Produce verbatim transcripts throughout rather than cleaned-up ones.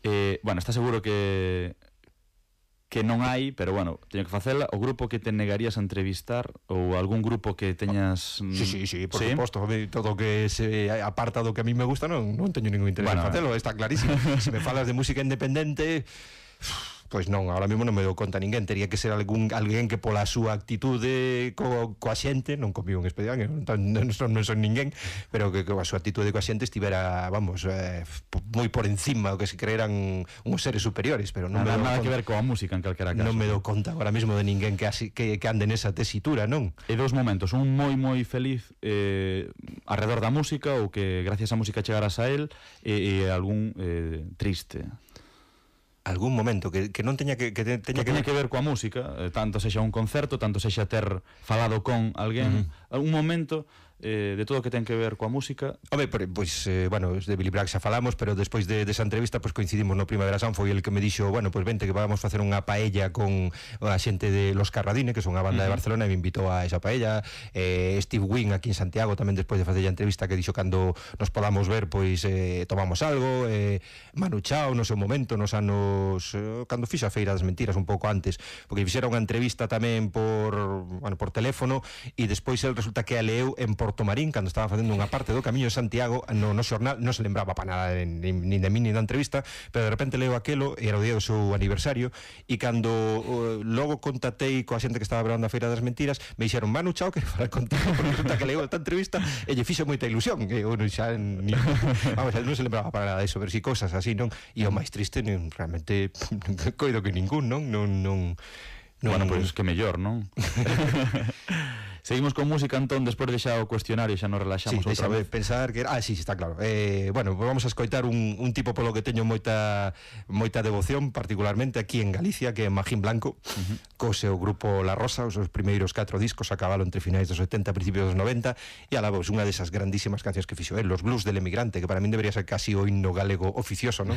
Eh, bueno, está seguro que que non hai, pero bueno, teño que facela. O grupo que te negarías a entrevistar ou algún grupo que teñas... Sí, sí, sí, por ¿sí? suposto. Todo o que se aparta do que a mí me gusta non, non teño ningún interés bueno, en facelo, está clarísimo. Se me falas de música independente... Pois non, ahora mesmo non me dou conta ninguén. Tería que ser algún alguén que pola súa actitude co, coa xente, non comigo un especial, non, non, son, non son ninguén, pero que coa súa actitude coa xente estivera, vamos, eh, moi por encima, o que se creeran uns seres superiores, pero non nada, me dou nada conta, que ver coa música en calquera caso. Non me dou conta agora mesmo de ninguén que, así, que, que ande nesa tesitura, non? E dous momentos, un moi moi feliz eh, arredor da música, ou que gracias á música chegaras a él, e, e algún eh, triste. Algún momento que, que non teña que, que teña que, que, teña que ver coa música, eh, tanto sexa un concerto, tanto sexa ter falado con alguén, uh-huh. un momento eh, de todo o que ten que ver coa música. Home, pois, eh, bueno, de Billy Bragg xa falamos, pero despois de, desa entrevista pois coincidimos no Primavera Sound, foi el que me dixo, bueno, pois vente que vamos facer unha paella con a xente de Los Carradine, que son unha banda uh-huh. de Barcelona, e me invitou a esa paella. eh, Steve Wynn aquí en Santiago tamén despois de facer a entrevista, que dixo cando nos podamos ver pois eh, tomamos algo. eh, Manu Chao no seu momento, nos anos eh, cando fixo a Feira das Mentiras un pouco antes, porque fixera unha entrevista tamén por, bueno, por teléfono, e despois el resulta que a leu en Porto Marín, cando estaba facendo unha parte do Camiño de Santiago no, no xornal, non se lembraba para nada nin de mí nin da entrevista, pero de repente leo aquelo, era o día do seu aniversario, e cando uh, logo contatei coa xente que estaba grabando a Feira das Mentiras, me dixeron, Manu Chao, que falar contigo, porque resulta que leo esta entrevista e lle fixo moita ilusión, e uno xa ni, vamos, non se lembraba para nada disso, pero si cousas así, non? E o máis triste, non, realmente coido que ningún, non? Non, non, non... Bueno, pois pues, que mellor, non? Seguimos con música, Antón, despois de xa o cuestionario, xa nos relaxamos sí, outra vez. Pensar que... Ah, sí, está claro. Eh, bueno, pues vamos a escoitar un, un tipo polo que teño moita moita devoción, particularmente aquí en Galicia, que é Magín Blanco, uh-huh. co seu grupo La Rosa, os seus primeiros catro discos a cabalo entre finais dos setenta e principios dos noventa, e a la voz, unha desas grandísimas cancións que fixo él, Los Blues del Emigrante, que para min debería ser casi o himno galego oficioso, non?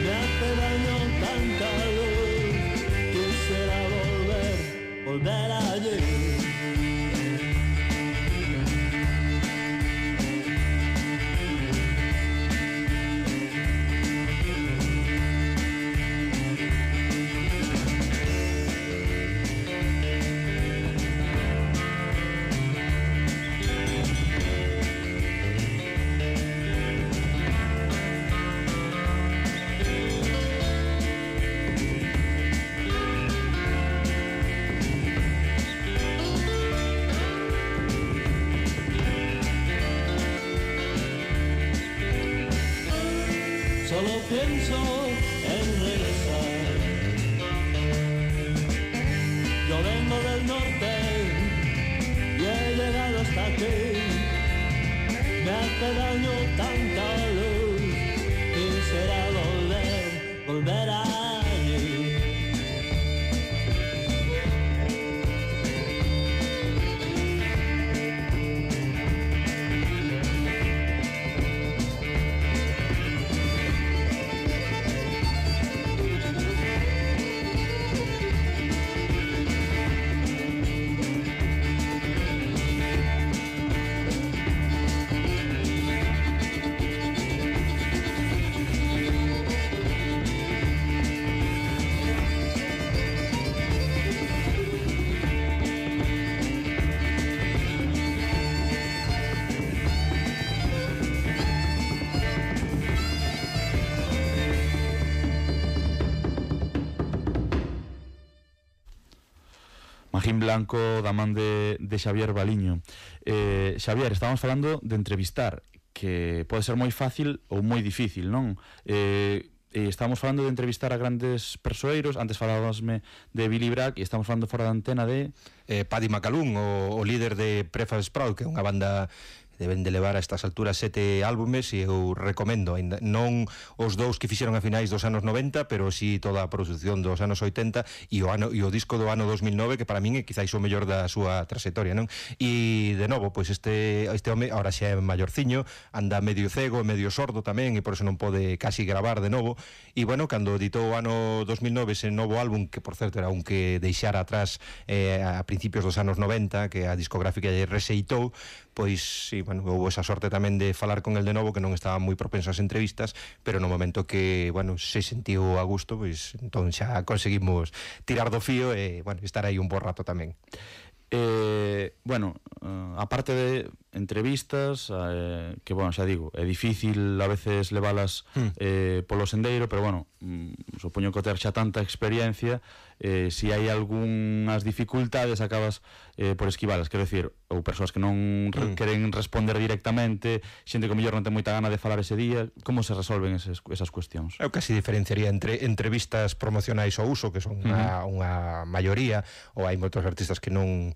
Me hace daño tanta luz, quisiera volver pienso en regresar. Yo vengo del norte y he llegado hasta aquí. Me hace daño tanta luz, quisiera volver, volver allí. Magín Blanco da man de, de Xavier Baliño. eh, Xavier, estábamos falando de entrevistar, que pode ser moi fácil ou moi difícil, non? Eh, eh, estamos falando de entrevistar a grandes persoeiros. Antes falábasme de Billy Bragg e estamos falando fora da antena de eh, Paddy McAloon, o, o líder de Prefab Sprout, que é unha banda deben de levar a estas alturas sete álbumes e eu recomendo, ainda non os dous que fixeron a finais dos anos noventa, pero si toda a produción dos anos oitenta e o ano e o disco do ano dos mil nove, que para min é quizáis o mellor da súa trayectoria, non? E de novo, pois este este home agora xa é maiorciño, anda medio cego e medio sordo tamén, e por eso non pode casi gravar de novo. E bueno, cando editou o ano dos mil nove ese novo álbum, que por certo era un que deixara atrás eh, a principios dos anos noventa, que a discográfica lle rexeitou, pois, sí, bueno, houve esa sorte tamén de falar con el de novo, que non estaba moi propenso ás entrevistas, pero no momento que, bueno, se sentiu a gusto, pois, entón xa conseguimos tirar do fío e, bueno, estar aí un bo rato tamén. Eh, bueno, uh, aparte de entrevistas, eh, que, bueno, xa digo, é difícil a veces levalas mm. eh, polo sendeiro, pero, bueno, mm, supoño que ter xa tanta experiencia, eh, si hai algunhas dificultades acabas eh, por esquivalas, quero dicir, ou persoas que non re- mm. queren responder directamente, xente que mellor non ten moita gana de falar ese día. Como se resolven eses, esas cuestións? Eu casi diferenciaría entre entrevistas promocionais ao uso, que son unha, mm. unha maioría, ou hai moitos artistas que non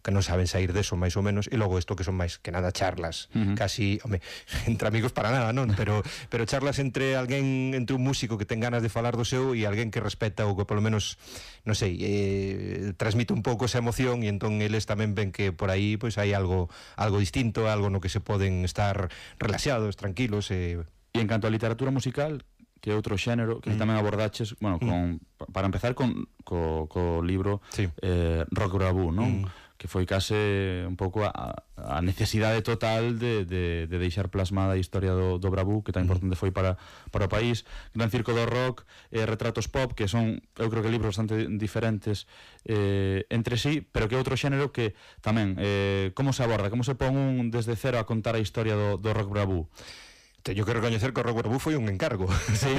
que non saben sair deso, máis ou menos, e logo isto que son máis que nada charlas, uh-huh. casi, home, entre amigos para nada, non? Pero pero charlas entre alguén, entre un músico que ten ganas de falar do seu e alguén que respeta ou que polo menos, non sei, eh, transmite un pouco esa emoción, e entón eles tamén ven que por aí pois hai algo algo distinto, algo no que se poden estar relaxados, tranquilos. E, e en canto á literatura musical, que é outro xénero que mm. tamén abordaches, bueno, con, mm. para empezar con co, co libro sí. eh, Rock Bravú, non? Mm. Que foi case un pouco a, a necesidade total de, de, de deixar plasmada a historia do, do Bravú, que tan importante foi para, para o país. Gran Circo do Rock, eh, Retratos Pop, que son, eu creo que libros bastante diferentes eh, entre sí, pero que é outro xénero que tamén, eh, como se aborda, como se pon un desde cero a contar a historia do, do Rock Bravú? Teño que recoñecer que o Rock Bravú foi un encargo, sí.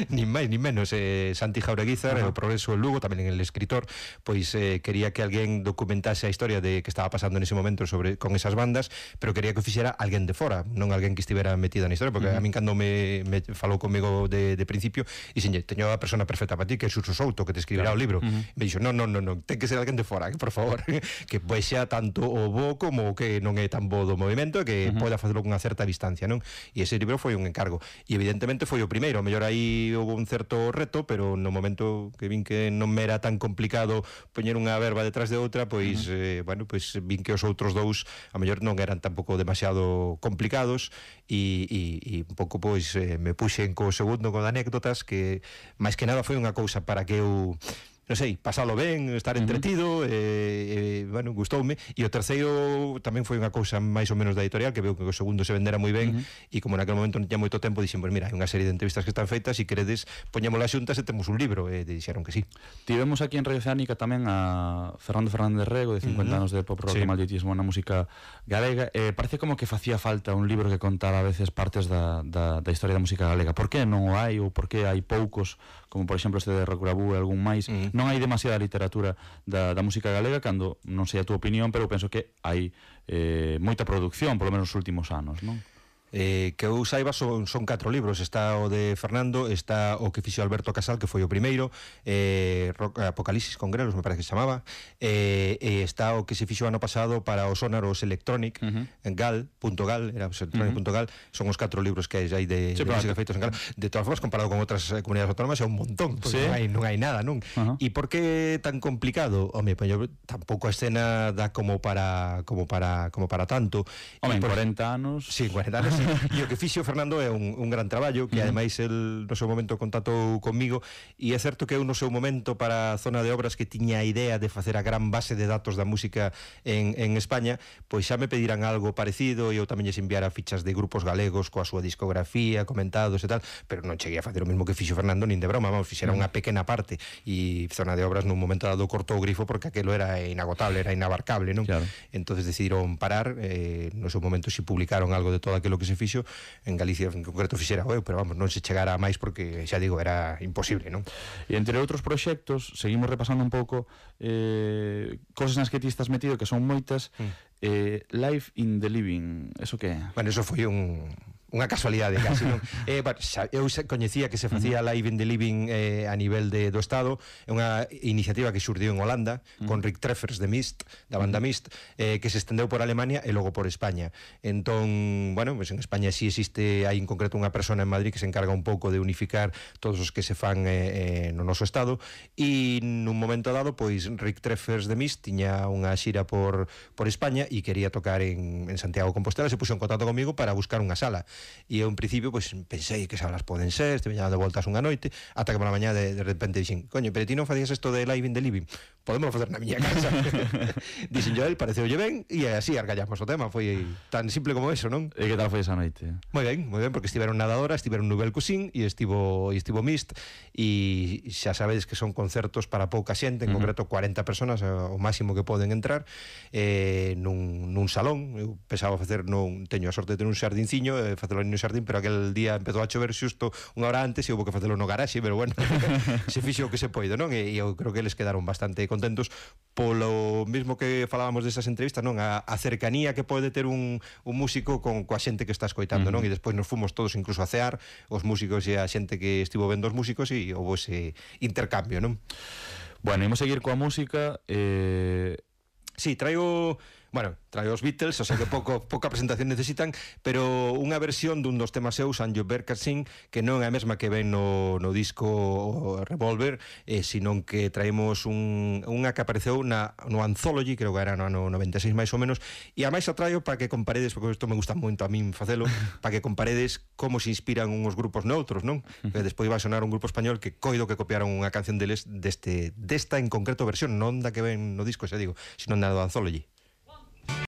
nin máis nin menos. eh, Santi Jaureguizar, uh-huh. o Progreso en Lugo, tamén el escritor, pois eh, quería que alguén documentase a historia de que estaba pasando nese momento sobre con esas bandas, pero quería que o fixera alguén de fora, non alguén que estivera metida na historia, porque uh-huh. a min cando me, me falou comigo de, de principio, e xenlle, teño a persona perfecta para ti, que é Suso Souto, que te escribirá claro. o libro. Uh-huh. Me dixo, non, non, non, non, ten que ser alguén de fora, que por favor, que pois xa tanto o bo como o que non é tan bo do movimento, que uh-huh. poida facelo con unha certa distancia, non? E ese libro foi un encargo. E evidentemente foi o primeiro, a mellor aí houve un certo reto, pero no momento que vin que non me era tan complicado poñer unha verba detrás de outra, pois uh-huh. eh, bueno, pois vin que os outros dous a mellor non eran tampouco demasiado complicados, e, e, e un pouco pois eh, me puxen co segundo con anécdotas, que máis que nada foi unha cousa para que eu non sei, pasalo ben, estar entretido, uh-huh. e, e, bueno, gustoume. E o terceiro tamén foi unha cousa máis ou menos da editorial, que veo que o segundo se vendera moi ben, uh-huh. e como naquele momento non tiña moito tempo, dixen, pues mira, hai unha serie de entrevistas que están feitas, e queredes, poñémolas xuntas e temos un libro, e dixeron que sí. Tivemos aquí en Radio Oceánica tamén a Fernando Fernández Rego, de cincuenta uh-huh. anos de pop rock sí. e malditismo na música galega. Eh, parece como que facía falta un libro que contara a veces partes da, da, da historia da música galega. Por que non o hai, ou por que hai poucos, como por exemplo este de Rock Bravú e algún máis? Uh-huh. Non hai demasiada literatura da, da música galega, cando non sei a túa opinión, pero penso que hai eh, moita produción, polo menos nos últimos anos, non? Eh, que eu saiba son, son catro libros. Está o de Fernando, está o que fixo Alberto Casal, que foi o primeiro, eh, Apocalipsis con grelos, me parece que se chamaba, eh, e está o que se fixo ano pasado para o Sonar, os Electronic, uh -huh. en gal punto gal, era electronic punto gal, uh -huh. son os catro libros que hai de, sí, de música feitos en gal. De todas formas, comparado con outras eh, comunidades autónomas, é un montón, porque sí. non, hai, non hai nada, non? Uh -huh. E por que tan complicado? Home, pues, yo, tampouco a escena dá como para como para como para tanto. Home, en por... cuarenta anos. Sí, cuarenta anos. E o que fixo Fernando é un, un gran traballo, que uh -huh. ademais el no seu momento contactou comigo, e é certo que eu no seu momento para a zona de obras que tiña a idea de facer a gran base de datos da música en, en España, pois xa me pediran algo parecido e eu tamén lles enviara fichas de grupos galegos coa súa discografía, comentados e tal, pero non cheguei a facer o mesmo que fixo Fernando nin de broma, vamos, fixera unha pequena parte, e zona de obras nun momento dado cortou o grifo porque aquelo era inagotable, era inabarcable, non? Claro. Entonces decidiron parar, eh, no seu momento si publicaron algo de todo aquilo que se fixo. En Galicia en concreto fixera eu, pero vamos, non se chegara a máis porque, xa digo, era imposible, non? E entre outros proxectos, seguimos repasando un pouco eh, cosas nas que ti estás metido, que son moitas. mm. eh, Life in the Living, eso que é? Bueno, eso foi un... unha casualidade casi, non? eh, bueno, xa, eu coñecía que se facía Live in the Living eh, a nivel de, do Estado. É unha iniciativa que xurdiu en Holanda, uh -huh. con Rick Treffers de Mist, da banda Mist, eh, que se estendeu por Alemania e logo por España. Entón, bueno, pues en España sí existe, hai en concreto unha persona en Madrid que se encarga un pouco de unificar todos os que se fan eh, eh, no noso Estado, e nun momento dado, pois Rick Treffers de Mist tiña unha xira por, por España e quería tocar en, en Santiago de Compostela, se puxo en contacto comigo para buscar unha sala. E eu en principio pues, pensei que salas poden ser, estive dando voltas unha noite, ata que pola mañá de, de repente dixen, coño, pero ti non facías isto de Live in the Living, podemos facer na miña casa. Dixen yo, el pareceulle ben, e así argallamos o tema. Foi tan simple como eso, non? E que tal foi esa noite? Moi ben, moi ben, porque estiveron Nadadora, estiveron Nubel Cusín e estivo, e estivo Mist, e xa sabedes que son concertos para pouca xente, en uh -huh. concreto cuarenta personas, o máximo que poden entrar, eh, nun, nun salón. Eu pensaba facer, non teño a sorte de ter un xardinciño, eh, facelo no xardín, pero aquel día empezou a chover xusto unha hora antes e houve que facelo no garaxe, pero bueno, se fixo o que se poido, non? E eu creo que eles quedaron bastante contentos polo mismo que falábamos desas entrevistas, non? A, a cercanía que pode ter un, un músico con coa xente que está escoitando, uh -huh. non? E despois nos fomos todos incluso a cear, os músicos e a xente que estivo vendo os músicos, e houve ese intercambio, non? Bueno, imos seguir coa música. eh... Sí, traigo... Bueno, trae os Beatles, o sea que pouco, pouca presentación necesitan, pero unha versión dun dos temas seus, And You Better Sing, que non é a mesma que ven no, no disco Revolver, eh, sino que traemos un, unha que apareceu na, no Anthology, creo que era no ano noventa e seis máis ou menos, e a máis a traio para que comparedes, porque isto me gusta moito a min facelo, para que comparedes como se inspiran uns grupos noutros, non? Que despois vai sonar un grupo español que coido que copiaron unha canción deles deste, desta en concreto versión, non da que ven no disco, xa digo, sino na do Anthology.